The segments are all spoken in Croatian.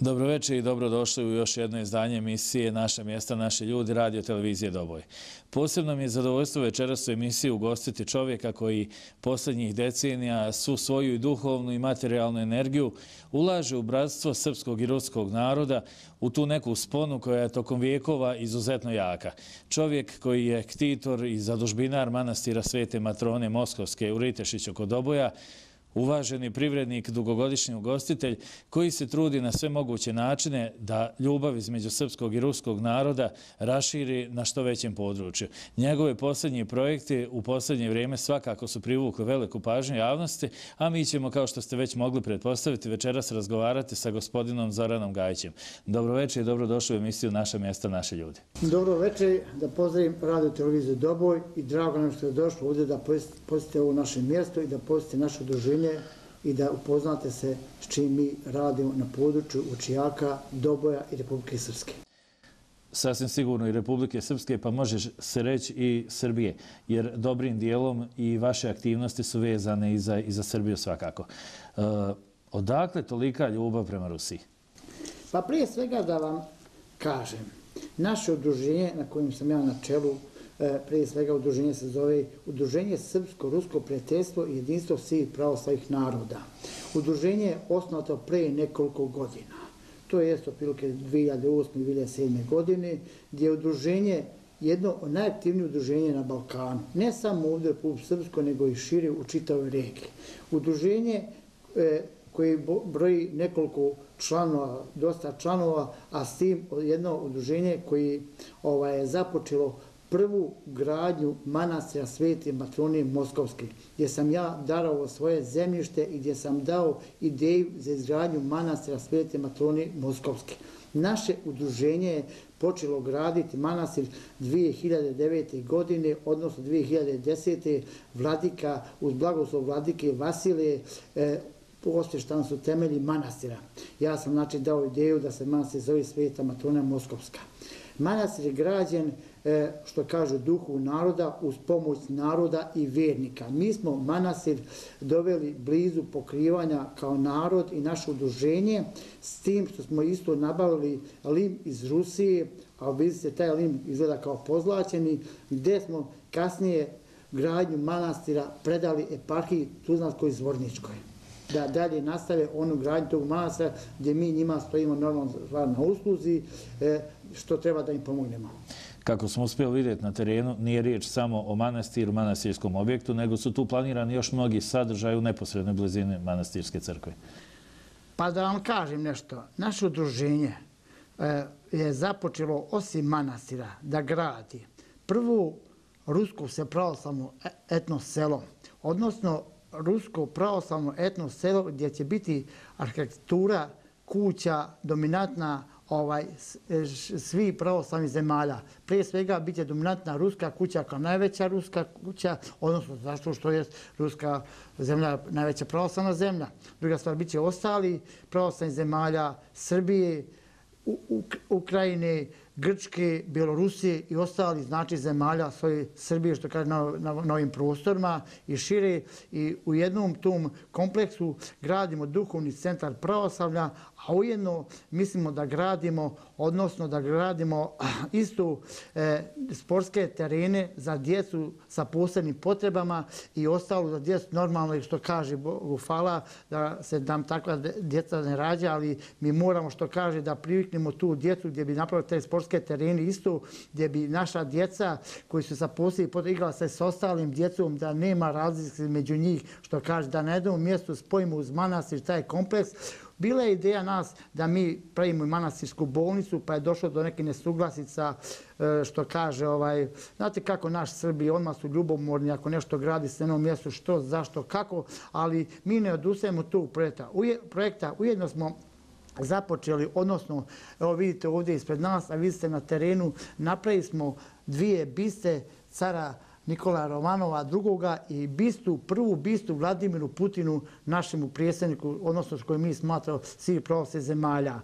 Dobro večer i dobrodošli u još jedno izdanje emisije Naša mjesta, naši ljudi, radio televizije Doboj. Posebno mi je zadovoljstvo večeras u emisiji ugostiti čovjeka koji posljednjih decenija svu svoju i duhovnu i materijalnu energiju ulaže u bratstvo srpskog i ruskog naroda, u tu neku sponu koja je tokom vijekova izuzetno jaka. Čovjek koji je ktitor i zadužbinar manastira Svete Matrone Moskovske u Ritešiću kod Doboja, uvaženi privrednik, dugogodišnji ugostitelj koji se trudi na sve moguće načine da ljubav između srpskog i ruskog naroda raširi na što većem području. Njegove posljednji projekti u posljednje vrijeme svakako su privukli veliku pažnju javnosti, a mi ćemo, kao što ste već mogli pretpostaviti, večeras razgovarati sa gospodinom Zoranom Gajićem. Dobro večer i dobrodošli u emisiju Naša mjesta, naši ljudi. Dobro večer, da pozdravim radio televiziju Doboj i drago nam što je došlo ovdje da posjetite ovo naše mjesto i da posjetite naše udruženje i da upoznate se s čim mi radimo na području Vučijaka, Doboja i Republike Srpske. Sasvim sigurno i Republike Srpske, pa može se reći i Srbije, jer dobrim dijelom i vaše aktivnosti su vezane i za Srbiju svakako. Odakle tolika ljubav prema Rusiji? Pa prije svega da vam kažem, naše udruženje na kojem sam ja na čelu, prije svega udruženje se zove Udruženje Srpsko-Rusko prijateljstvo i jedinstvo svih pravoslavnih naroda. Udruženje je osnovano prije nekoliko godina. To je otprilike 2008. i 2007. godine, gdje je udruženje jedno od najaktivnijih udruženja na Balkanu. Ne samo ovdje u Republici Srpskoj, nego i šire u čitavoj regiji. Udruženje koji broji nekoliko članova, dosta članova, a s tim jedno udruženje koji je započelo prvu gradnju manastira Svete Matrone Moskovske, gdje sam ja darovao svoje zemljište i gdje sam dao ideju za izgradnju manastira Svete Matrone Moskovske. Naše udruženje je počelo graditi manastir 2009. godine, odnosno 2010. vladika, uz blagoslov vladike Vasilije, posvještani su temelji manastira. Ja sam dao ideju da se manastir zove Sveta Matrona Moskovska. Manastir je građen, što kažu, duhu naroda uz pomoć naroda i vjernika. Mi smo manastir doveli blizu pokrivanja kao narod i naše udruženje, s tim što smo isto nabavili lim iz Rusije, a vidite taj lim izgleda kao pozlaćeni, gdje smo kasnije gradnju manastira predali eparhiji Tuzlanskoj-Zvorničkoj. Da dalje nastave onu gradnju tog manastira gdje mi njima stojimo normalno na usluzi, što treba da im pomognemo. Kako smo uspjeli vidjeti na terenu, nije riječ samo o manastiru, manastirskom objektu, nego su tu planirani još mnogi sadržaji u neposrednoj blizini manastirske crkve. Pa da vam kažem nešto, naše udruženje je započelo osim manastira da gradi prvu rusko pravoslavno etno selo, odnosno rusko pravoslavno etno selo gdje će biti arhitektura kuća dominantna svih pravoslavnih zemalja. Prije svega bit će dominantna ruska kuća kao najveća ruska kuća, odnosno zašto što je ruska zemlja najveća pravoslavna zemlja. Druga stvar, bit će ostali pravoslavnih zemalja Srbije, Ukrajine, Grčke, Bjelorusije i ostali zemalja svoje Srbije, što kaže na novim prostorima i šire, i u jednom tom kompleksu gradimo duhovni centar pravoslavlja, a ujedno mislimo da gradimo, odnosno da gradimo isto sportske terene za djecu sa posebnim potrebama i ostalo za djecu normalno, što kaže Bogu hvala, da se nam takva djeca ne rađa, ali mi moramo, što kaže, da priviknemo tu djecu gdje bi napravili te sportske terene isto, gdje bi naša djeca koji su sa posebnim potrebama igrala se s ostalim djecom, da nema razlike među njih, što kaže, da na jednom mjestu spojimo uz manastir taj kompleks. Bila je ideja nas da mi pravimo i manastirsku bolnicu, pa je došlo do neke nesuglasica, što kaže, znate kako naš Srbi, odmah su ljubomorni ako nešto gradi se na jednom mjestu, što, zašto, kako, ali mi ne odustajemo tog projekta. Ujedno smo započeli, odnosno, evo vidite ovdje ispred nas, a vidite na terenu, napravili smo 2 biste cara Nikolaja Romanova II. I prvu bistu Vladimiru Putinu, našemu predsjedniku, odnosno koji mi smatramo svih pravoslavnih zemalja.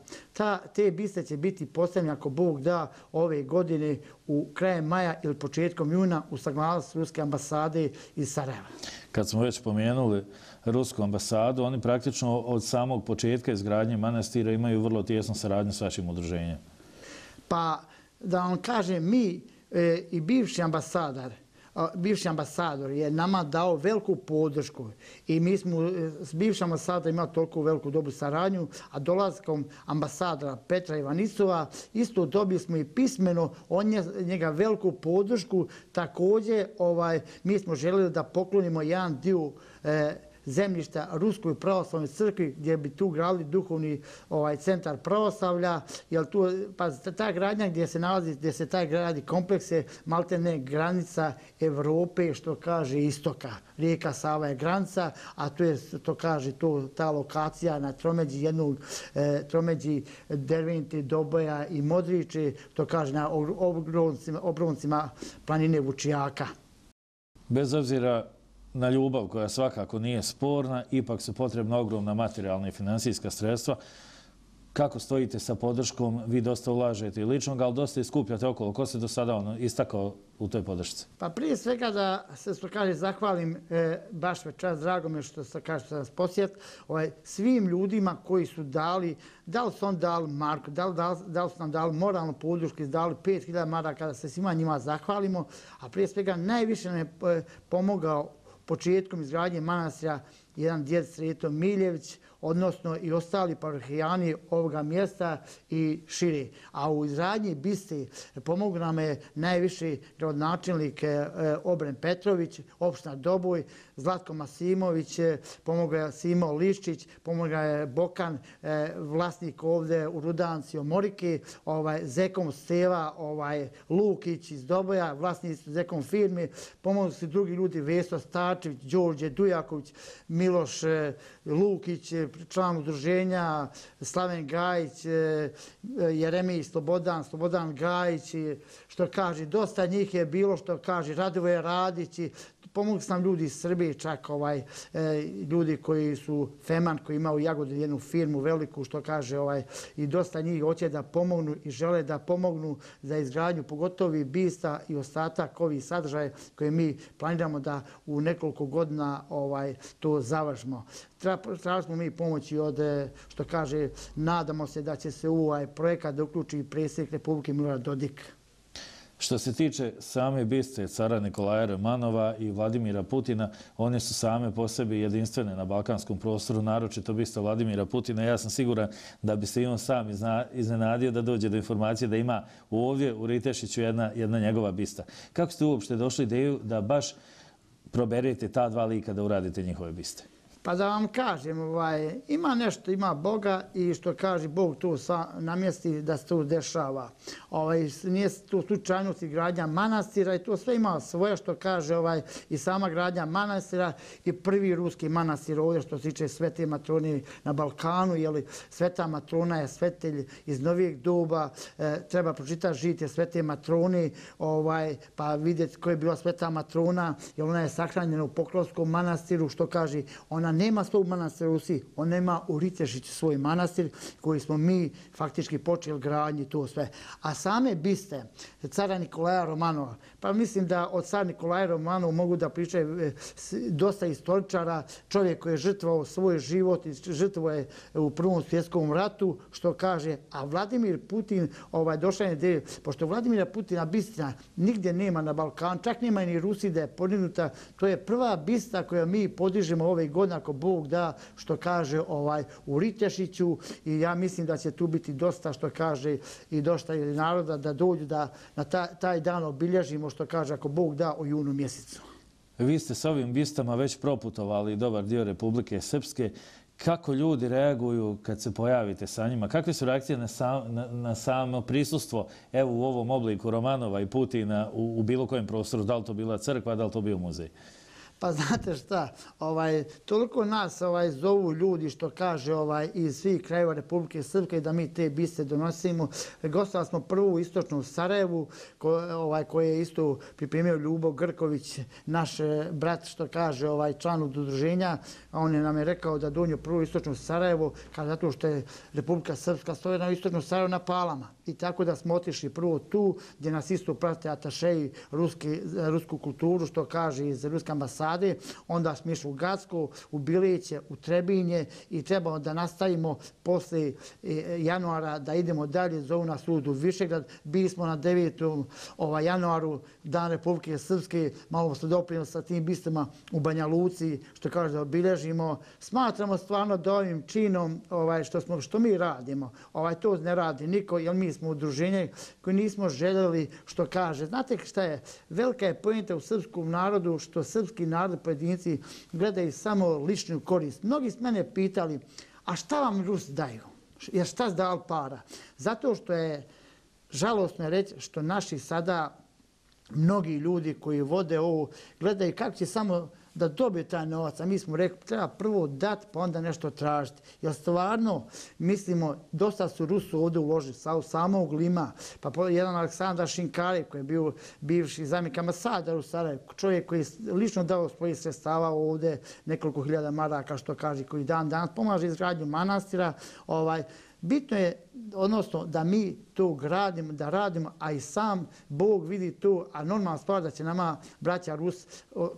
Te biste će biti postavljene, ako Bog da, ove godine u krajem maja ili početkom juna u saglasnosti Ruske ambasade iz Sarajeva. Kad smo već pomenuli Rusku ambasadu, oni praktično od samog početka izgradnje manastira imaju vrlo tijesnu saradnju s vašim udruženjem. Pa da vam kažem, mi i bivši ambasador je nama dao veliku podršku i mi smo s bivšim ambasadorom imali toliko veliku dobru saradnju, a dolaskom ambasadora Petra Ivanisova isto dobili smo i pismeno od njega veliku podršku. Također mi smo željeli da poklonimo jedan dio zemljišta Ruskoj pravoslavnoj crkvi gdje bi tu gradili duhovni centar pravoslavlja, jer ta gradnja gdje se taj gradi kompleks je maltene granica Evrope, što kaže istoka. Rijeka Sava je granica, a to kaže ta lokacija na tromeđi Dervente, Doboja i Modriče, to kaže na obroncima planine Vučijaka. Bez obzira na ljubav koja svakako nije sporna, ipak su potrebna ogromna materijalna i financijska sredstva. Kako stojite sa podrškom? Vi dosta ulažete i ličnog, ali dosta i skupljate okolo. Ko se do sada istakao u toj podršci? Pa prije svega da se zahvalim baš večeras, drago mi je što se nas posjet, svim ljudima koji su dali, da li su on dali marku, da li su nam dali moralnu podršku, dali 5000 maraka, da se svima njima zahvalimo, a prije svega najviše nam je pomogao početkom izgradnje manastira jedan djed Sreto Miljević, odnosno i ostali parohijani ovoga mjesta i šire. A u izgradnji biste pomogao nam je najviši gradonačelnik Obren Petrović, opština Doboj, Zlatko Masimović, pomogao je Simo Liščić, pomogao je Bokan, vlasnik ovdje u Rudanci Omorike, Zekom Steva Lukić iz Doboja, vlasnik Zekom firme, pomogli su drugi ljudi, Veso Starčević, Đorđe Dujaković, Miloš Lukić, član udruženja, Slaven Gajić, Jeremij Slobodan Gajić, što kaže, dosta njih je bilo, što kaže, Radovoje Radić, pomogli su nam ljudi iz Srbije, čak ljudi koji su Feman, koji ima u Jagodini jednu firmu veliku, što kaže, i dosta njih hoće da pomognu i žele da pomognu za izgradnju, pogotovo i bista i ostatak ovih sadržaja koje mi planiramo da u nekoliko godina to završimo. Tražili smo mi pomoći od, što kaže, nadamo se da će se u ovaj projekat da uključi predsjednik Republike Milorad Dodik. Što se tiče same biste cara Nikolaja Romanova i Vladimira Putina, one su same po sebi jedinstvene na balkanskom prostoru, naročito bista Vladimira Putina. Ja sam siguran da bi se i on sam iznenadio da dođe do informacije da ima ovdje u Ritešiću jedna njegova bista. Kako ste uopšte došli ideju da baš proberete ta dva lika da uradite njihove biste? Pa da vam kažem, ima nešto, ima Boga i što kaže Bog tu namjesti da se to dešava. Nije to slučajnost i gradnja manastira i to sve ima svoje, što kaže i sama gradnja manastira i prvi ruski manastir ovdje što se tiče Svete Matrone na Balkanu, jer Sveta Matrona je svetelj iz novijeg doba, treba pročitati žitije Svete Matrone, pa vidjeti koja je bila Sveta Matrona, jer ona je sahranjena u Pokrovskom manastiru, što kaže, ona nema svog manastira u Rusiji, on ima u Ritešiću svoj manastir koji smo mi faktički počeli gradnji to sve. A same biste cara Nikolaja Romanova, pa mislim da od cara Nikolaja Romanova mogu da pričaju dosta istoričara, čovjek koji je žrtvovao svoj život i žrtvovao je u Prvom svjetskom ratu, što kaže, a Vladimir Putin došao je ideju, pošto Vladimira Putina bistina nigdje nema na Balkanu, čak nema ni Rusiji da je podignuta, to je prva bista koju mi podižemo ove godine, ako Bog da, što kaže, u Ritešiću, i ja mislim da će tu biti dosta, što kaže, i dosta naroda da dođu da na taj dan obilježimo, što kaže, ako Bog da, u junu mjesecu. Vi ste s ovim bistama već proputovali dobar dio Republike Srpske. Kako ljudi reaguju kad se pojavite sa njima? Kakve su reakcije na samo prisustvo u ovom obliku Romanova i Putina u bilo kojem prostoru? Da li to bila crkva, da li to bio muzej? Pa znate šta, toliko nas zovu ljudi što kaže iz svih krajeva Republike Srpske da mi te biste donosimo. Gostovali smo prvu u istočnu Sarajevu koje je isto pripremio Ljubo Grković, naš brat što kaže član udruženja. On je nam je rekao da dođe prvu u istočnu Sarajevo zato što je Republika Srpska stoje na istočnu Sarajevo na Palama. I tako da smo otišli prvo tu gdje nas isto prate atašeji rusku kulturu što kaže iz Ruske ambasade. Onda smo išli u Gacko, u Biliće, u Trebinje i trebamo da nastavimo posle januara da idemo dalje. Zovu nas sud u Višegrad. Bili smo na 9. januaru, Dan Republike Srpske. Malo se doprinimo sa tim bistima u Banja Luci, što kaže da obilježimo. Smatramo stvarno da ovim činom što mi radimo, to ne radi niko, jer mi smo udruženje koji nismo željeli što kaže. Znate šta je? Velika je poenta u srpskom narodu što srpski narod pojedinci gledaju samo ličnu korist. Mnogi s mene pitali, a šta vam Rusi daju? Jer šta se dal para? Zato što je žalosno reći što naši sada mnogi ljudi koji vode ovo gledaju kako će samo da dobije taj novac, a mi smo rekli treba prvo dati pa onda nešto tražiti. Jer stvarno mislimo, dosta su Rusu ovdje uložili, samog Lima, pa jedan Aleksandar Šinkarev koji je bio bivši zamjenik ambasadora u Sarajevu, čovjek koji je lično dao svojih sredstava ovdje, nekoliko hiljada maraka što kaže, koji danas pomaže izgradnju manastira. Bitno je, odnosno, da mi to gradimo, da radimo, a i sam Bog vidi to, a normalna stvar da će nama braća Rus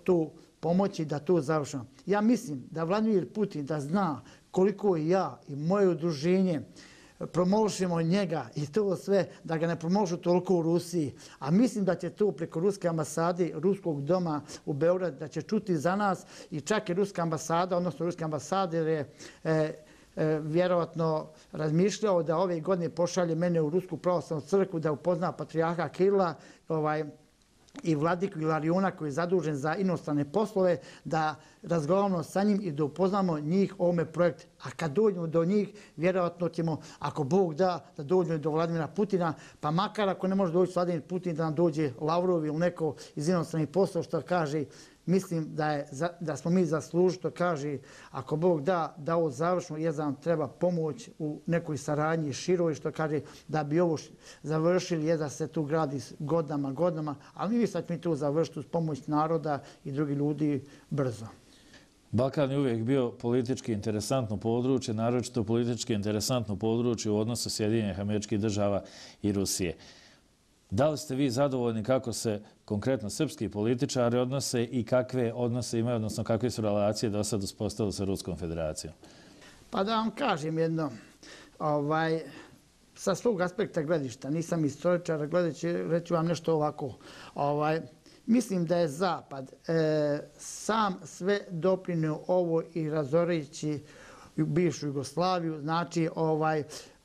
to pomoći da to završimo. Ja mislim da Vladimir Putin da zna koliko ja i moje udruženje promošimo njega i to sve, da ga ne promošu toliko u Rusiji. A mislim da će to preko Ruske ambasade, Ruskog doma u Beogradu, da će čuti za nas i čak i Ruska ambasada, odnosno Ruske ambasader je vjerovatno razmišljao da ove godine pošalje mene u Rusku pravoslavnu crkvu da upozna patrijarha Kirila i vladiku Ilariona koji je zadužen za inostrane poslove, da razgovaramo sa njim i da upoznamo njih o ovome projektu. A kad dođemo do njih, vjerojatno ćemo, ako Bog da dođemo do Vladimira Putina, pa makar ako ne može doći Vladimir Putin, da nam dođe Lavrov ili neko iz inostranih poslova što kaže, mislim da smo mi zaslužili, što kaže, ako Bog da ovo završimo, jer nam treba pomoć u nekoj saradnji široj, što kaže, da bi ovo završili, jer da se tu gradi godinama, ali mi sad mi tu završiti uz pomoć naroda i drugih ljudi brzo. Balkan je uvijek bio politički interesantno područje, naročito politički interesantno područje u odnosu Sjedinjenih Američkih Država i Rusije. Da li ste vi zadovoljni kako se konkretno srpski političari odnose i kakve odnose imaju, odnosno kakve su relacije do sad uspostavili sa Ruskom federacijom? Pa da vam kažem jedno, sa svog aspekta gledišta, nisam istoričar, reći vam nešto ovako. Mislim da je Zapad sam sve doprinio ovo i razoreći bivšu Jugoslaviju, znači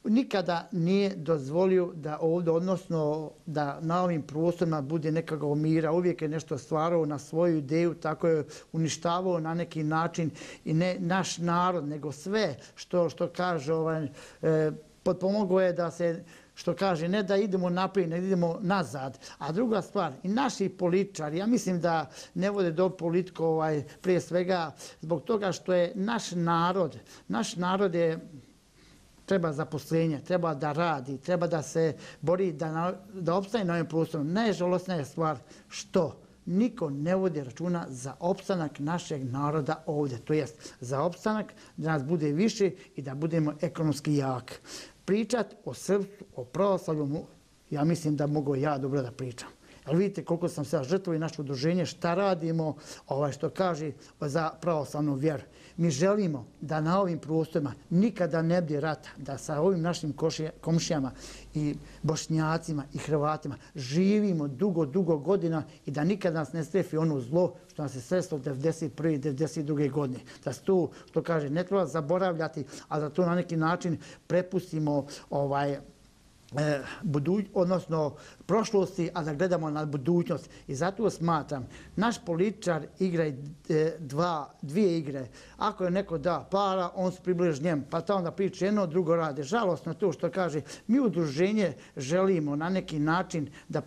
nikada nije dozvolio da ovdje, odnosno da na ovim prostorima bude nekakvog mira. Uvijek je nešto stvarao na svoju ideju, tako je uništavao na neki način i ne naš narod, nego sve što kaže, potpomogao je da se, što kaže, ne da idemo naprijed, ne idemo nazad. A druga stvar, i naši političari, ja mislim da ne vode do politiku prije svega zbog toga što je naš narod je treba zaposlenje, treba da radi, treba da se bori, da opstane na ovim prostorom. Najžalosnija je stvar što niko ne vodi računa za opstanak našeg naroda ovdje. To jest za opstanak da nas bude više i da budemo ekonomski jaki. Pričat o srpstvu, o pravoslavlju, ja mislim da mogu ja dobro da pričam. Ali vidite koliko sam se žrtvovao i naše udruženje, šta radimo, što kaže za pravoslavnu vjeru. Mi želimo da na ovim prostorima nikada ne bude rata, da sa ovim našim komšijama i Bošnjacima i Hrvatima živimo dugo godina i da nikada nas ne strefi ono zlo što nas je sreslo 1991. i 1992. godine. Da se to, što kaže, ne treba zaboravljati, a da to na neki način prepustimo odnosno prošlosti, a da gledamo na budućnost. I zato smatram, naš političar igra dvije igre. Ako je neko da para, on se približi njemu, pa ta onda priča jedno, drugo rade. Žalostno to što kaže, mi udruženje želimo na neki način da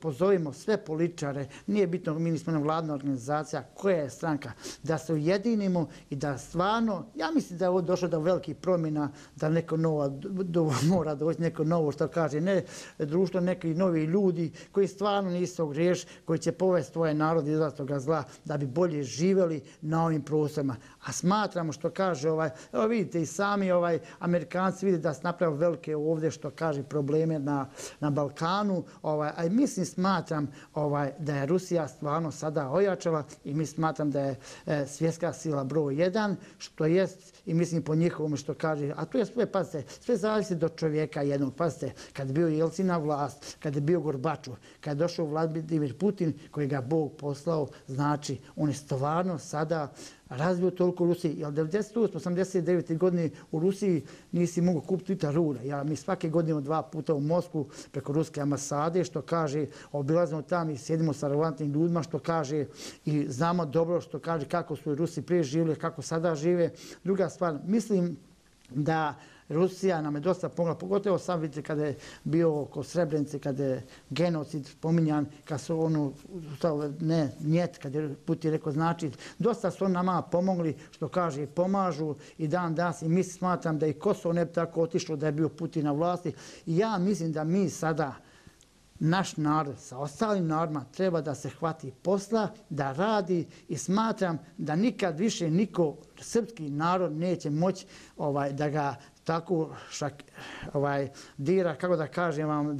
pozovemo sve političare, nije bitno, mi nismo vladna organizacija, koja je stranka, da se ujedinimo i da stvarno, ja mislim da je ovo došlo do velikih promjena, da neko mora doći, neko novo što kaže, ne društvo, neki novi ljudi koji stvarno nisu griješ, koji će povesti svoje narod iz toga zla da bi bolje živjeli na ovim prostorima. A smatramo što kaže, evo vidite i sami Amerikanci vide da se napravili velike ovdje što kaže probleme na Balkanu, a mislim smatram da je Rusija stvarno sada ojačala i mi smatram da je svjetska sila broj 1, što jest i mislim po njihovom što kaže, a to je sve, pazite, sve zavisi do čovjeka jednog, pazite, kad je bio Jelcin na vlast, kad je bio Gorbačov, kad je došao Vladimir Putin koji ga Bog poslao, znači on je stvarno sada razvio toliko u Rusiji. Jer 1989. godine u Rusiji nisi mogao kupiti litra rura. Mi svake godine 2 puta u Moskvu preko ruske ambasade, što kaže, obilazimo tamo i sjedimo sa relevantnim ljudima, što kaže i znamo dobro što kaže kako su Rusi prije živjeli, kako sada žive. Druga stvar, mislim da Rusija nam je dosta pomogla, pogotovo sam vidite kada je bio oko Srebrenice, kada je genocid spominjan, kad su kad je Putin rekao znači, dosta su nama pomogli, što kaže, pomažu i dan danas i mi smatram da i Kosovo ne bi tako otišlo da je bio Putin na vlasti. I ja mislim da mi sada, naš narod sa ostalim narodima treba da se hvati posla, da radi i smatram da nikad više niko srpski narod neće moći da ga tako dira, kako da kažem vam,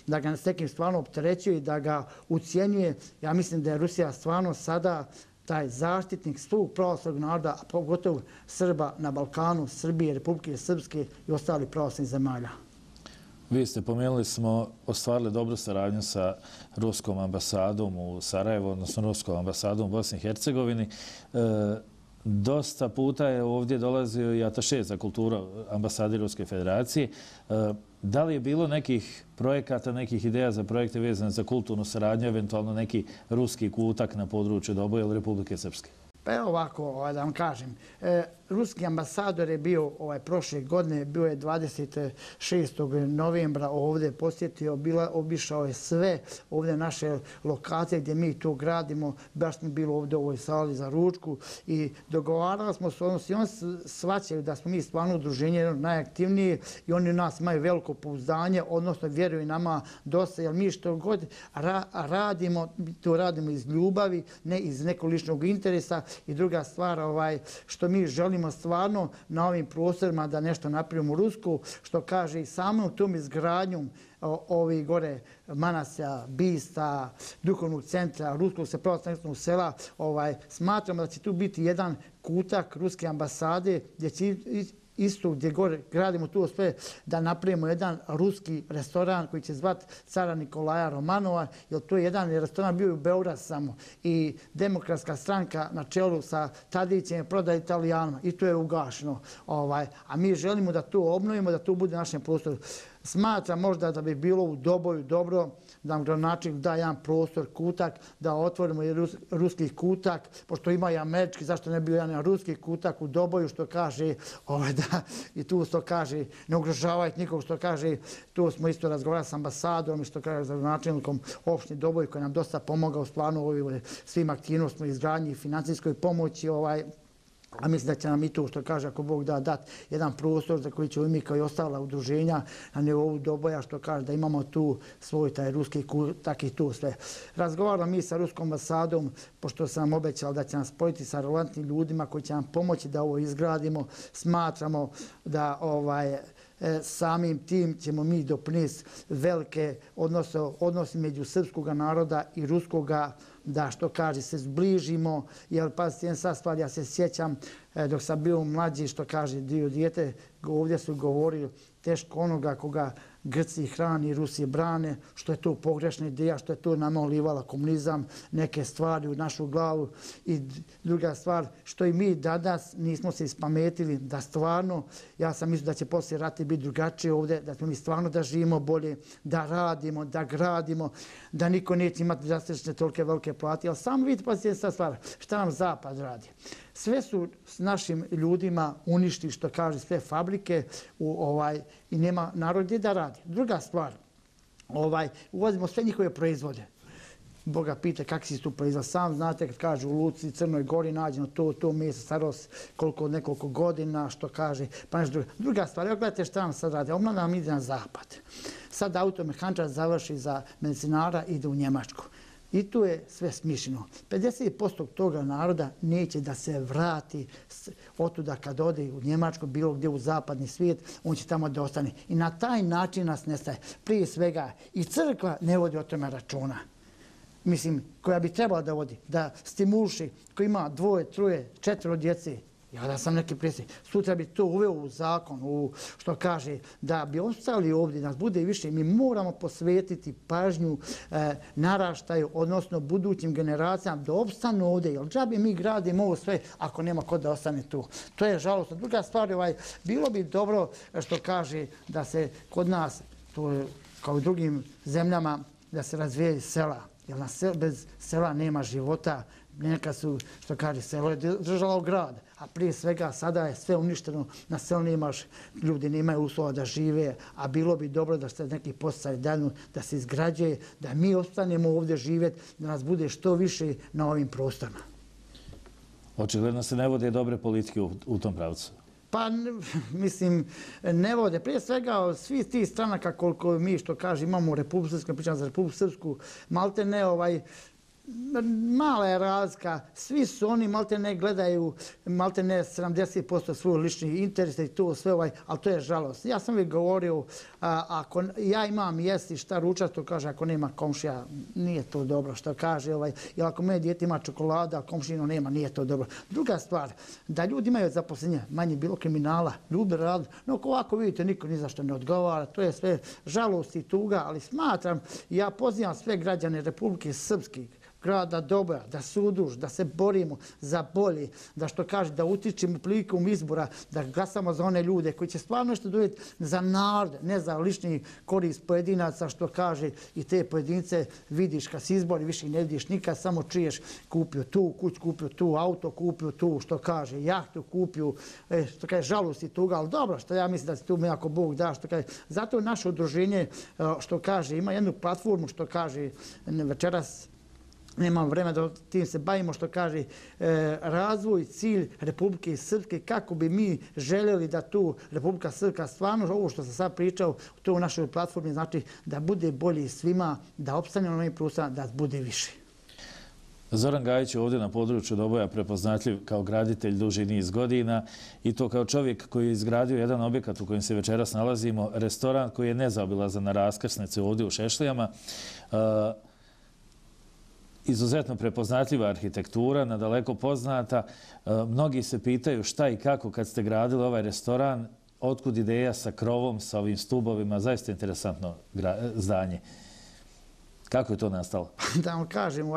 da ga s nekim stvarno opterećuje i da ga ucijenjuje. Ja mislim da je Rusija stvarno sada taj zaštitnik svog pravoslavnog naroda, a pogotovo Srba na Balkanu, Srbije, Republike Srpske i ostalih pravoslavnih zemalja. Vi ste pomenuli smo ostvarili dobru saradnju sa ruskom ambasadom u Sarajevu, odnosno ruskom ambasadom u Bosni i Hercegovini. Dosta puta je ovdje dolazio i ataše za kulturu ambasade Ruske federacije. Da li je bilo nekih projekata, nekih ideja za projekte vezane za kulturnu saradnju, eventualno neki ruski kutak na području Doboja ili Republike Srpske? Pa evo ovako, da vam kažem. Ruski ambasador je bio prošle godine, bio je 26. novembra ovdje posjetio, obišao je sve ovdje naše lokacije gdje mi to gradimo, baš smo bili ovdje u ovoj sali za ručku i dogovarali smo se odnosno i oni shvaćaju da smo mi stvarno udruženje najaktivnije i oni u nas imaju veliko pouzdanje, odnosno vjeruju nama dosta, jer mi što god radimo, to radimo iz ljubavi, ne iz nekog ličnog interesa. I druga stvar, što mi želimo stvarno na ovim prostorima da nešto napravimo u Rusku, što kaže i samom tom izgradnjom ovih gore manasija, bista, duhovnog centra, ruskog se pravoslavnog sela, smatramo da će tu biti jedan kutak ruske ambasade gdje će isto gdje gore gradimo tu sve da napravimo jedan ruski restoran koji će zvati cara Nikolaja Romanova, jer to je jedan restoran bio u Beogradu samo i Demokratska stranka na čelu sa Tadićem je prodala Italijanima i to je ugašeno. A mi želimo da to obnovimo, da to bude u našem prostoru. Smatram možda da bi bilo u Doboju dobro da nam gradonačelnik da jedan prostor, kutak, da otvorimo i ruski kutak, pošto ima i američki, zašto ne bi bio jedan ruski kutak u Doboju, što kaže, i tu što kaže, ne ugrožavajte nikog, što kaže, tu smo isto razgovarali s ambasadom i što kaže za gradonačelnikom opštine Doboj, koji nam dosta pomogao stvarno u svim aktivnostima, izgradnji i financijskoj pomoći, a mislim da će nam i to, što kaže, ako Bog da dati jedan prostor za koji ćemo mi kao i ostala udruženja na nivou Doboja, što kaže da imamo tu svoj taj ruski kutak i tu sve. Razgovaramo mi sa ruskom ambasadom, pošto sam obećala da će nas spojiti sa relevantnim ljudima koji će nam pomoći da ovo izgradimo. Smatramo da samim tim ćemo mi doprinijeti velike odnose među srpskog naroda i ruskoga, da što kaže se zbližimo, jer pazite jedan sad stvar, ja se sjećam dok sam bio mlađi, što kaže dio dijete, ovdje su govorili teško onoga koga Grci hrani, Rusi brane, što je to pogrešna ideja, što je to nama ulivala komunizam, neke stvari u našu glavu. I druga stvar, što i mi danas nismo se ispametili da stvarno, ja sam mislio da će poslije rata biti drugačije ovdje, da smo mi stvarno da živimo bolje, da radimo, da gradimo, da niko neće imati drastične tolike velike plate. Ali samo vidite, pa se stvar, šta nam Zapad radi. Sve su s našim ljudima uništili, što kaže, sve fabrike i nema narod gdje da radi. Druga stvar, uvozimo sve njihove proizvode. Boga pita kakvi si tu proizvod. Sam znate kad kažu u Luci, Crnoj Gori nađeno to meso starost nekoliko godina, što kaže, pa nešto drugo. Druga stvar, evo gledajte šta nam sad radi. Ovo nam ide na zapad. Sad automehančar završi za medicinara, ide u Njemačku. I tu je sve smišljeno. 50% toga naroda neće da se vrati otuda kad ode u Njemačku, bilo gdje u zapadni svijet, on će tamo da ostane. I na taj način nas nestaje. Prije svega i crkva ne vodi o tome računa. Mislim, koja bi trebala da vodi, da stimuliši, koji ima 2, 3, 4 djece. Ja da sam neki predsjednik. Sutra bi to uveo u zakon, što kaže, da bi ostali ovdje, nas bude više. Mi moramo posvetiti pažnju naraštaju, odnosno budućim generacijama, da opstanu ovdje. Jer džabe mi gradimo ovo sve ako nema ko da ostane tu. To je žalostno. Druga stvar, bilo bi dobro, što kaže, da se kod nas, to je kao u drugim zemljama, da se razvije sela. Jer bez sela nema života. Neka su, što kaže, selo je držalo grad, a prije svega sada je sve uništeno, na selu nemaš, ljudi nemaju uslova da žive, a bilo bi dobro da se neki posticaj danu, da se izgrađuje, da mi ostanemo ovdje živjeti, da nas bude što više na ovim prostorima. Očigledno se ne vode dobre politike u tom pravcu. Pa, mislim, ne vode. Prije svega, svi ti stranaka koliko mi, što kaže, imamo u Republiku Srpsku, pričam za Republiku Srpsku, malte ne mala je razlika. Svi su oni malte ne gledaju, malte ne 70% svoj lični interes i to sve, ali to je žalost. Ja sam uvijek govorio, ako ja imam jesti šta ručati, to kaže, ako nema komšija, nije to dobro, što kaže. Jer ako moje dijete ima čokolada, a komšino nema, nije to dobro. Druga stvar, da ljudi imaju zaposlenje, manje bilo kriminala, ljudi radu, no ovako vidite, niko ni za što ne odgovara, to je sve žalost i tuga, ali smatram, ja pozivam sve građane Republike Srpske, grada Doboja, da se udruž, da se borimo za bolje, da što kaže, da utičemo prilikom izbora, da glasamo za one ljude koji će stvarno nešto donijeti za narod, ne za lični korist pojedinaca, što kaže, i te pojedince vidiš kad se izbori, više ne vidiš nikad, samo čuješ kupio tu kuć, kupio tu auto, kupio tu, što kaže, jahtu kupio, što kaže, žalost i tuga, ali dobro, što ja mislim da se tu mi ako Bog da, što kaže, zato naše udruženje, što kaže, ima jednu platformu, što kaže, večeras nemam vremena da tim se bavimo, što kaže, razvoj, cilj Republike Srpske, kako bi mi željeli da tu Republika Srpska stvarno, ovo što sam sad pričao, to u našoj platformi, znači da bude bolje svima, da opstane na ovim prostorima, da bude više. Zoran Gajić je ovdje na području Doboja prepoznatljiv kao graditelj duži niz godina i to kao čovjek koji je izgradio jedan objekat u kojem se večeras nalazimo, restoran koji je nezaobilazan na raskrsnici ovdje u Šešlijama. Izuzetno prepoznatljiva arhitektura, nadaleko poznata. Mnogi se pitaju šta i kako kad ste gradili ovaj restoran, otkud ideja sa krovom, sa ovim stubovima, zaista interesantno zdanje. Kako je to nastalo? Da vam kažem,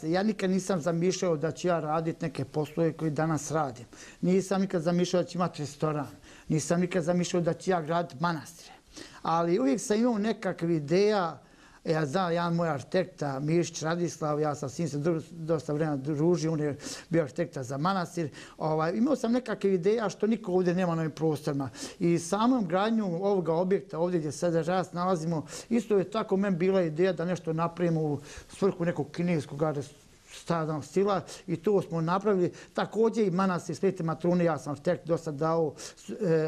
ja nikad nisam zamišljao da ću ja raditi neke poslove koje danas radim. Nisam nikad zamišljao da ću imati restoran. Nisam nikad zamišljao da ću ja graditi manastire. Ali uvijek sam imao nekakve ideja. Ja znam, jedan moj arhitekta, Mišić Radislav, ja sam s njim se dosta vremena družio, on je bio arhitekta za manastir. Imao sam nekakve ideja što niko ovdje nema na ovim prostorima. I samom gradnju ovoga objekta, ovdje gdje sada raz nalazimo, isto je tako meni bila ideja da nešto napravimo u svrhu nekog kineskog stadnog stila i to smo napravili. Također i manastir Svete Matrone, ja sam arhitekt dosta dao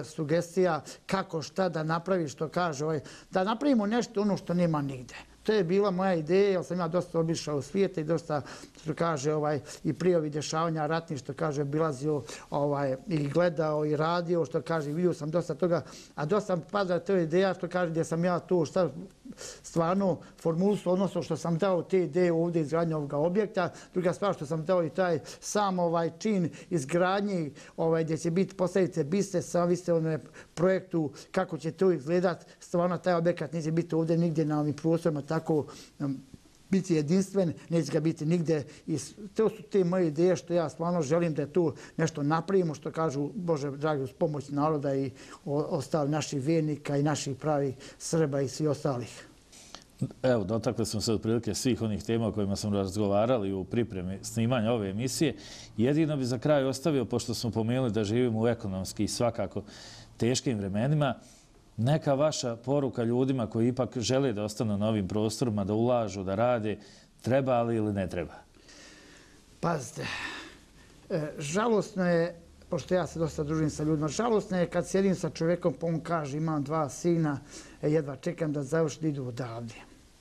sugestija kako šta da napravi, što kaže, da napravimo nešto ono što nema nigde. To je bila moja ideja, jer sam ja dosta obišao u svijete i dosta, što kaže, i prije ovih dešavanja ratnih, što kaže, obilazio i gledao i radio, što kaže, vidio sam dosta toga, a dosta pada to ideja, što kaže, gdje sam ja tu stvarno formulisu, odnosno što sam dao te ideje ovdje izgradnje ovoga objekta. Druga stvar što sam dao i taj sam čin izgradnje gdje će biti postavite biste, sam vi ste u projektu kako će to izgledat. Stvarno taj objekat neće biti ovdje nigdje na ovim prostorima tako biti jedinstven, neće ga biti nigde. I to su te moje ideje što ja stvarno želim da tu nešto napravimo, što kažu, Bože dragi, uz pomoć naroda i ostali naših vjernika i naših pravih Srba i svi ostalih. Evo, dotakli smo se otprilike svih onih tema o kojima smo razgovarali u pripremi snimanja ove emisije. Jedino bi za kraj ostavio, pošto smo pomenuli da živimo u ekonomski i svakako teškim vremenima, neka vaša poruka ljudima koji ipak žele da ostanu na ovim prostorima, da ulažu, da rade, treba li ili ne treba? Pazite, žalosno je, pošto ja se dosta družim sa ljudima, žalosno je kad sjedim sa čovjekom pa on kaže imam 2 sina, jedva čekam da završi da idu odavde.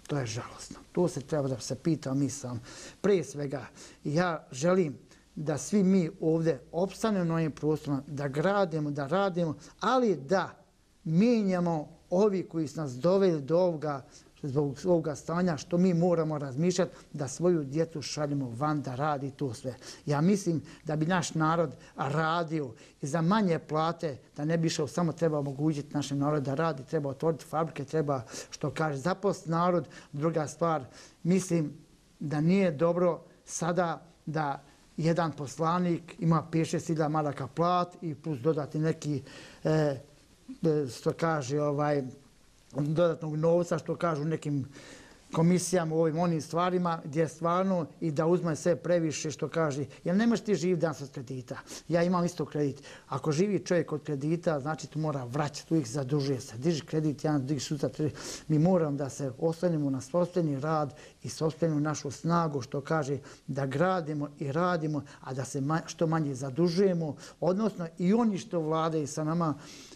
To je žalosno. To se treba da se pita mi sam. Prije svega, ja želim da svi mi ovdje opstanemo na ovim prostorima, da gradimo, da radimo, ali da mijenjamo ovi koji su nas doveli do ovoga, zbog ovoga stanja, što mi moramo razmišljati da svoju djecu šaljemo van da radi to sve. Ja mislim da bi naš narod radio i za manje plate, da ne bi išao, samo treba omogućiti našem narodu da radi, treba otvoriti fabrike, treba, što kaže, zaposliti narod. Druga stvar, mislim da nije dobro sada da jedan poslanik ima 5-6 maraka plat i plus dodati neki što kaže dodatnog novca, što kažu nekim komisijama u ovim onim stvarima, gdje stvarno i da uzme sve previše, što kaže, jer ne možeš ti živjeti danas od kredita. Ja imam isto kredit. Ako živi čovjek od kredita, znači tu mora vraćati, uvijek zadužuje se. Diži kredit, jedan diži sutra. Mi moramo da se oslanjamo na sopstveni rad i sopstvenu našu snagu, što kaže, da gradimo i radimo, a da se što manje zadužujemo, odnosno i oni što vladaju sa nama,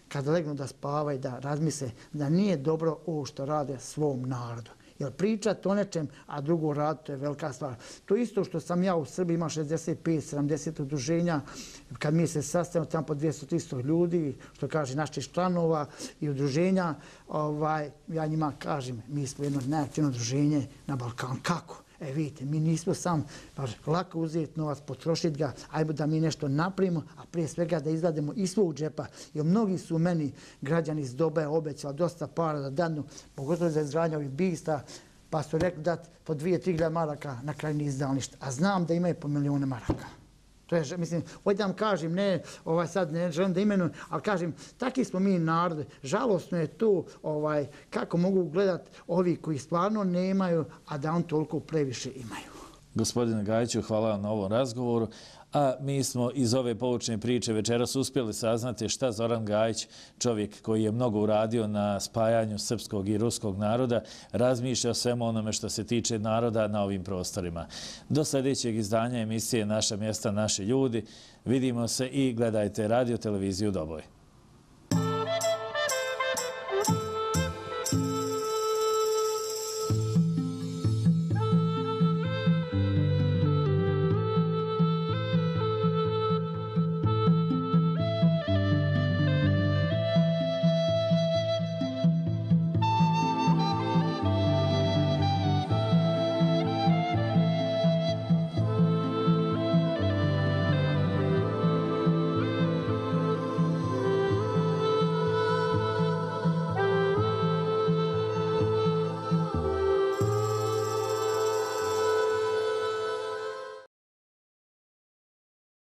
kada legnu da spavaju, da razmisle da nije dobro ovo što rade svom narodu. Jer pričati o nečem, a drugo raditi, to je velika stvar. To isto što sam ja u Srbiji, ima 65-70 udruženja, kad mi se sastavimo tamo po 200-300 ljudi, što kaže naših članova i udruženja, ja njima kažem, mi smo jedno najaktivno udruženje na Balkanu. Kako? Vidite, mi nismo sam lako uzeti novac, potrošiti ga, ajmo da mi nešto napravimo, a prije svega da izgledamo iz svog džepa. Jer mnogi su meni građani iz Dobaja obećali dosta para da danu, pogotovo za izgradnju ovih bista, pa su rekli dati po 2-3 maraka, na kraju nije izdali ništa. A znam da imaju po 1.000.000 maraka. To je, mislim, ovdje vam kažem, ne, sad ne želim da imenujem, ali kažem, takvi smo mi narod. Žalosno je to kako mogu gledati ovi koji stvarno nemaju, a da on toliko previše imaju. Gospodine Gajiću, hvala vam na ovom razgovoru. A mi smo iz ove poučne priče večeras uspjeli saznati šta Zoran Gajić, čovjek koji je mnogo uradio na spajanju srpskog i ruskog naroda, razmišlja o svemu onome što se tiče naroda na ovim prostorima. Do sljedećeg izdanja emisije Naša mjesta, naši ljudi. Vidimo se i gledajte Radio Televiziju Doboj.